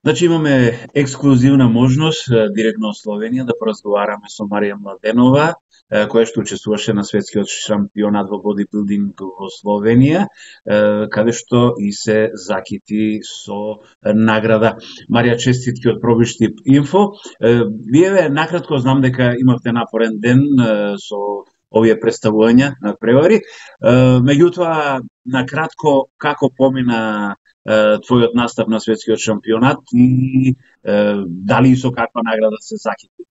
Значи имаме ексклузивна можност директно од Словенија да поразговараме со Марија Младенова, која што учествуваше на светскиот шампионат во бодибилдинг во Словенија, каде што и се закити со награда. Марија, честитки од Пробиштип Инфо. Вие накратко знам дека имавте напорен ден со овие представувања на превари. Меѓутоа, накратко, како помина твојот настап на светскиот шампионат и дали со каква награда се закити?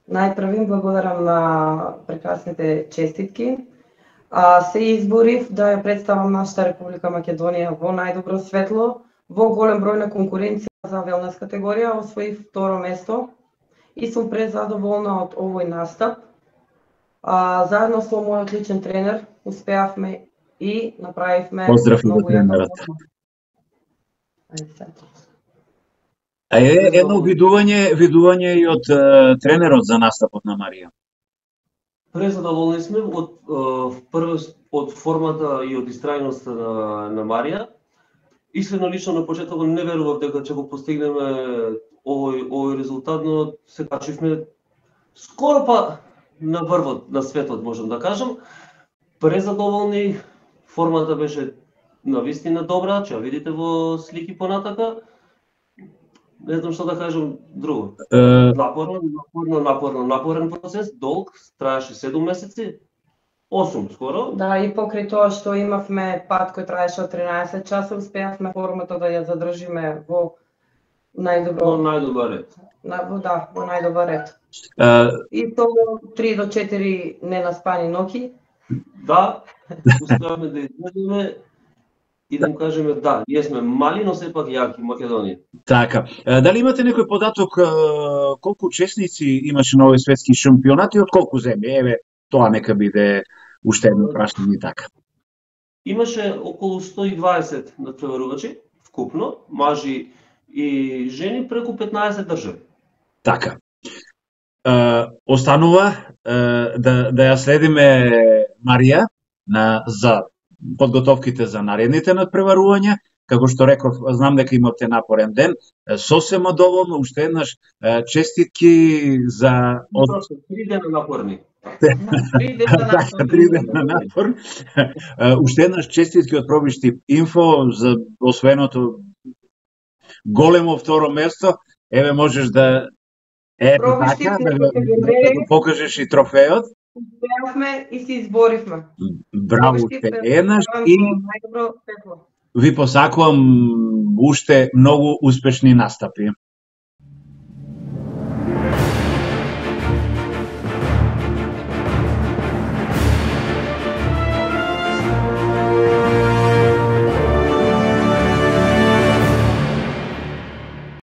Најпрво благодарам на прекрасните честитки. Се изборив да ја представам нашата Република Македонија во најдобро светло, во голем број на конкуренција за велнес категорија, освоив второ место и сум презадоволна од овој настап. Заедно со мојот личен тренер успеавме и направивме Поздрав на тренерот. Едно видување и од тренерот за настапот на Марија. Презадоволни сме од формата и од истрајноста на Марија. Искрено лично на почетокот не верував дека ќе го постигнеме овој резултат, но се качивме скоро па на врвот на светот, можам да кажам. Презадоволни, формата беше навистина добра, ќе ја видите во слики понатака. Не знам што да кажам друго. Напорен процес, долг, траеше 7 месеци, 8 скоро. Да, и покрај тоа што имавме пат кој траеше од 13 часа, успеавме формата да ја задржиме во најдобар ред. Во најдобар ред. И тоа 3 до 4 ненаспани ноќи. Да, успеавме да изгледаме и да му кажеме да, ние сме мали, но сепак јаки Македонија. Така. Дали имате некој податок колку учесници имаше на овој светски шампионат и од колку земји? Еве, тоа нека биде уште едно прашање така. Имаше околу 120 надпреварувачи вкупно, мажи и жени, преку 15 држави. Така. Останува да ја следиме Марија за подготовките за наредните надпреварувања. Како што реков, знам дека имавте напорен ден, сосема доволно, уште еднаш честитки за... 3 дена напорни. 3 дена напорни. Уште еднаш честитки од Пробиштип Инфо за освоеното големо второ место. Еве можеш да покажеш и трофеот. Успеавме и се изборивме. Браво уште еднаш и ви посакувам уште многу успешни настапи.